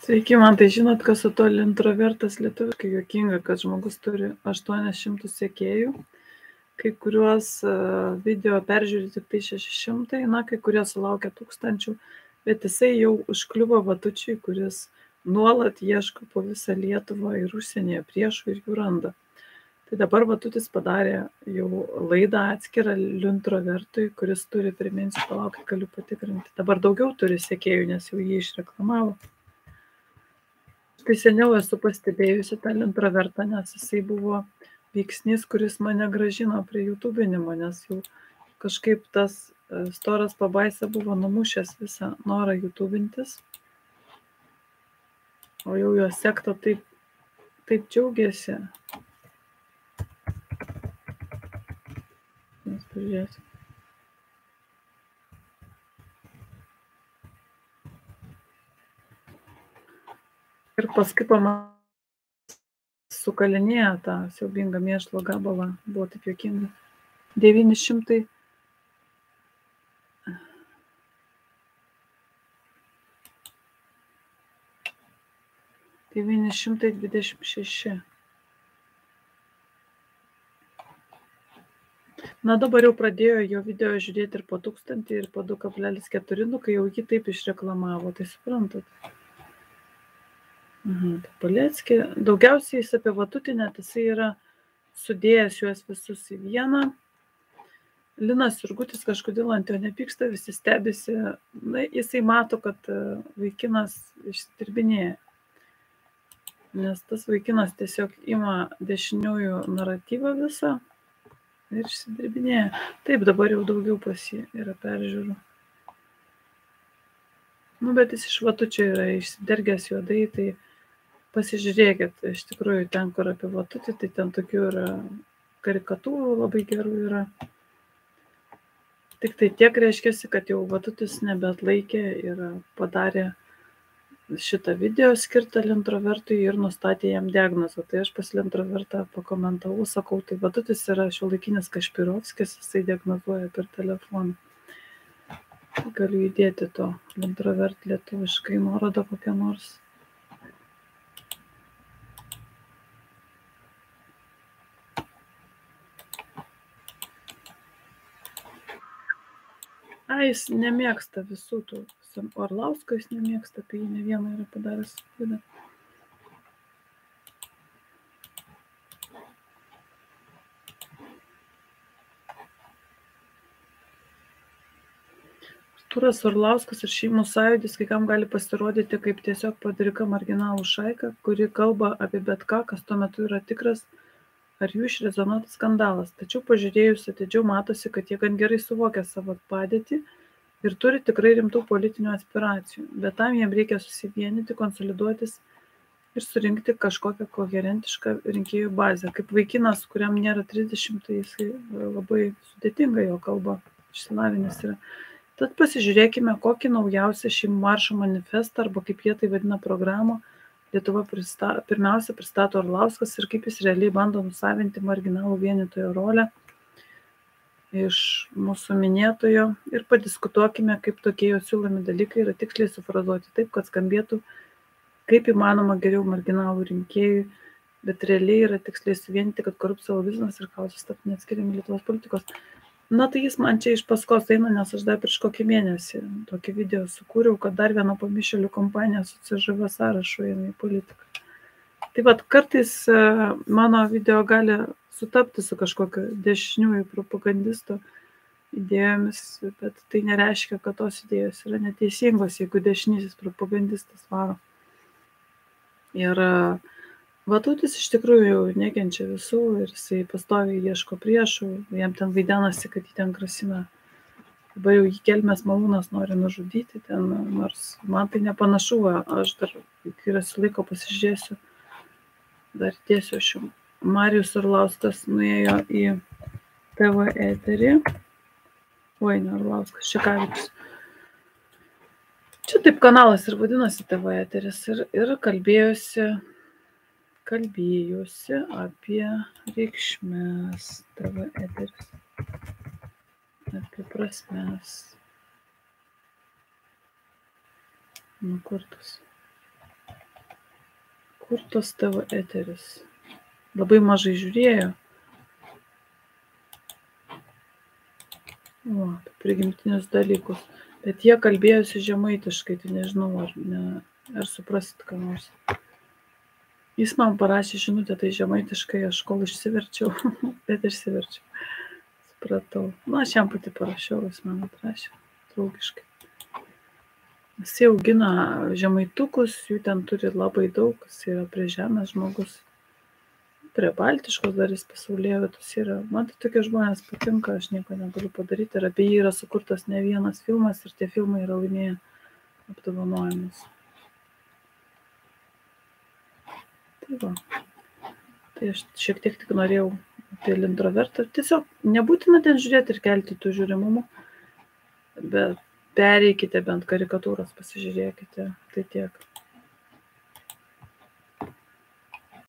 Sveiki, man tai žinot, kas su to introvertas lietuviškai juokinga, kad žmogus turi 800 sekėjų, kai kuriuos video peržiūri tik tai 600, na, kai kurie sulaukia 1000, bet jisai jau užkliuvo Vatučiui, kuris nuolat ieško po visą Lietuvą ir užsienyje priešų ir jų randa. Tai dabar Vatutis padarė jau laidą atskirą introvertui, kuris turi, priminsiu, palaukit, galiu patikrinti. Dabar daugiau turi sekėjų, nes jau jį išreklamavo. Kai seniau esu pastebėjusi tą introvertą, nes jisai buvo veiksnys, kuris mane gražino prie YouTube'inimo, nes jau kažkaip tas storas pabaisa buvo numušęs visą norą YouTube'intis. O jau jo sekta taip džiaugiasi. Mes pažiūrėsim. Ir paskui sukalinėja tą siaubingą mėšlo gabalą, buvo taip juokinga. 926. Na dabar jau pradėjo jo video žiūrėti ir po 1000, ir po 2,4, kai jau jį taip išreklamavo, tai suprantat. Tai Paleckį. Daugiausiai jis apie Vatutį, net jisai yra sudėjęs juos visus į vieną. Linas Jurgutis kažkodėl ant jo nepyksta, visi stebisi. Na, jisai mato, kad vaikinas išsidirbinėja. Nes tas vaikinas tiesiog ima dešiniųjų naratyvą visą ir išsidirbinėja. Taip, dabar jau daugiau pas jį yra peržiūrų. Nu, bet jis iš Vatučio yra išsidergęs juodai, tai pasižiūrėkit, iš tikrųjų ten, kur apie Vatutį, tai ten tokių yra karikatūrų labai gerų yra. Tik tai tiek reiškiasi, kad jau Vatutis nebeatlaikė ir padarė šitą video skirtą introvertui ir nustatė jam diagnozę. Tai aš pas introvertą pakomentavau, sakau, tai Vatutis yra šiuolaikinis Kašpirovskis, jisai diagnozuoja per telefoną. Galiu įdėti to introvert lietuviškai nuorodą kokią nors. Jis nemėgsta visų tų. Orlausko jis nemėgsta, apie jį ne vieną yra padaręs klaidą. Artūras Orlauskas ir Šeimų sąjūdis kai kam gali pasirodyti kaip tiesiog padrika marginalų šaika, kuri kalba apie bet ką, kas tuo metu yra tikras ar jų išrezonuotas skandalas. Tačiau pažiūrėjus atidžiau matosi, kad jie gan gerai suvokia savo padėtį ir turi tikrai rimtų politinių aspiracijų. Bet tam jiems reikia susivienyti, konsoliduotis ir surinkti kažkokią koherentišką rinkėjų bazę. Kaip vaikinas, kuriam nėra 30, tai jisai labai sudėtinga jo kalba išsilavinęs yra. Tad pasižiūrėkime, kokį naujausią Šeimų maršo manifestą, arba kaip jie tai vadina programą, Lietuva pirmiausia pristato Orlauskas ir kaip jis realiai bando nusavinti marginalų vienytojo rolę iš mūsų minėtojo ir padiskutuokime, kaip tokie jo siūlomi dalykai yra tiksliai sufrazuoti taip, kad skambėtų kaip įmanoma geriau marginalų rinkėjų, bet realiai yra tiksliai suvienyti, kad korupcija, lobizmas ir chaosas taptų neatskiriami Lietuvos politikos. Na tai jis man čia iš paskos eina, nes aš dar prieš kokį mėnesį tokį video sukūriau, kad dar viena pamišėlių kompanija su CŽV sąrašu eina į politiką. Tai vat kartais mano video gali sutapti su kažkokio dešiniųjų propagandisto idėjomis, bet tai nereiškia, kad tos idėjos yra neteisingos, jeigu dešinysis propagandistas varo. Ir Vatutis iš tikrųjų nekenčia visų ir jisai pastoviai ieško priešų, jam ten vaidenasi, kad jį ten grasina. Dabar jau jį Kelmės malūnas nori nužudyti ten, nors man tai nepanašu, aš dar, kai rasiu laiko, pasižiūrėsiu, dar tiesiu aš jau. Marijus Orlauskas nuėjo į TV eterį. Oi, ne Orlauskas, Šekavičius. Čia taip kanalas ir vadinasi TV eteris ir kalbėjosi apie reikšmes, TV eteris, apie prasmes. Nu, kur tas? Kur tos tavo eteris? Labai mažai žiūrėjo. O, apie prigimtinius dalykus. Bet jie kalbėjosi žemaitiškai, tai nežinau, ar suprasit ką nors. Jis man parašė žinutę, tai žemaitiškai, aš kol išsiverčiau, bet išsiverčiau. Supratau. Nu, aš jam pati parašiau, jis man atrašė, draugiškai. Jis augina žemaitukus, jų ten turi labai daug, jis yra prie žemės žmogus. Prie baltiškos dar jis pasaulėvietos yra. Man tai tokie žmonės patinka, aš nieko negaliu padaryti. Ir apie jį yra sukurtas ne vienas filmas ir tie filmai yra laimėję apdovanojimus. Tai va. Tai aš šiek tiek tik norėjau apie introvertą. Tiesiog nebūtina ten žiūrėti ir kelti tų žiūrimumų, bet pereikite bent karikatūras, pasižiūrėkite. Tai tiek.